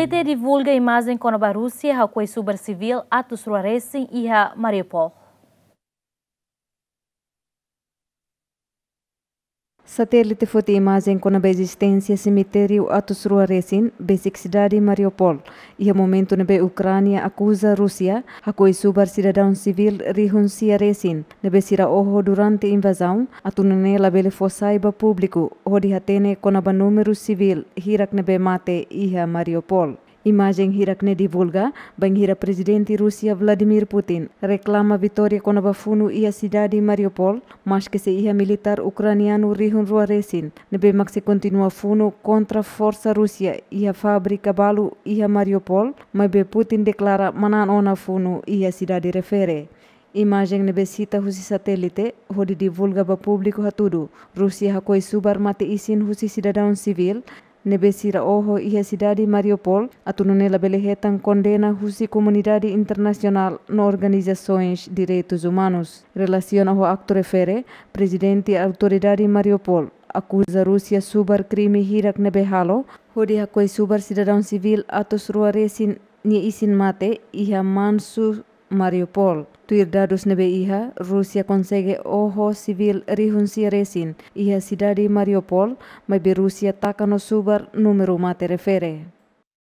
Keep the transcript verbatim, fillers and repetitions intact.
T T divulga imajen kona-ba Rúsia hakoi subar sivíl atus rua resin iha Mariupol. Satélite foti imajen kona-ba ezisténsia semitériu atus rua resin besik sidade Mariupol, iha momentu ne'ebé Ukránia akuza Rúsia hakoi subar sidadaun sivíl rihun sia resin ne'ebé sira oho durante invazaun, atu nune'e labele fó sai ba públiku, hodi hatene kona-ba númeru sivíl hirak ne'ebé mate iha Mariupol. Imajen hirak ne'e divulga bainhira Prezidente Rúsia Vladimir Putin reklama vitória kona-ba funu iha sidade Mariupol, maske sei iha militár ukranianu rihun rua resin ne'ebé mak sei kontinua funu kontra forsa Rúsia iha fábrika balu iha Mariupol, maibé Putin deklara manán ona funu iha sidade refere. Imajen ne'ebé sita husi satélite hodi divulga ba públiku hatudu Rúsia hakoi subar mate-isin husi sidadaun sivíl ne'ebé sira oho iha sidade Mariupol, atu nune'e labele hetan kondena husi komunidade internasionál no organizasoens direitus umanus. Relasiona ho aktu refere, Prezidente Autoridade Mariupol akuza Rúsia subar krime hirak ne'ebé halo, hodi hakoi subar sidadaun sivíl atus rua resin nia isin mate iha Mansu, Mariupol. Tuir dadus ne'ebé iha, Rúsia konsege oho sivíl rihun sia resin iha sidade Mariupol, maibé Rúsia taka no subar númeru mate refere.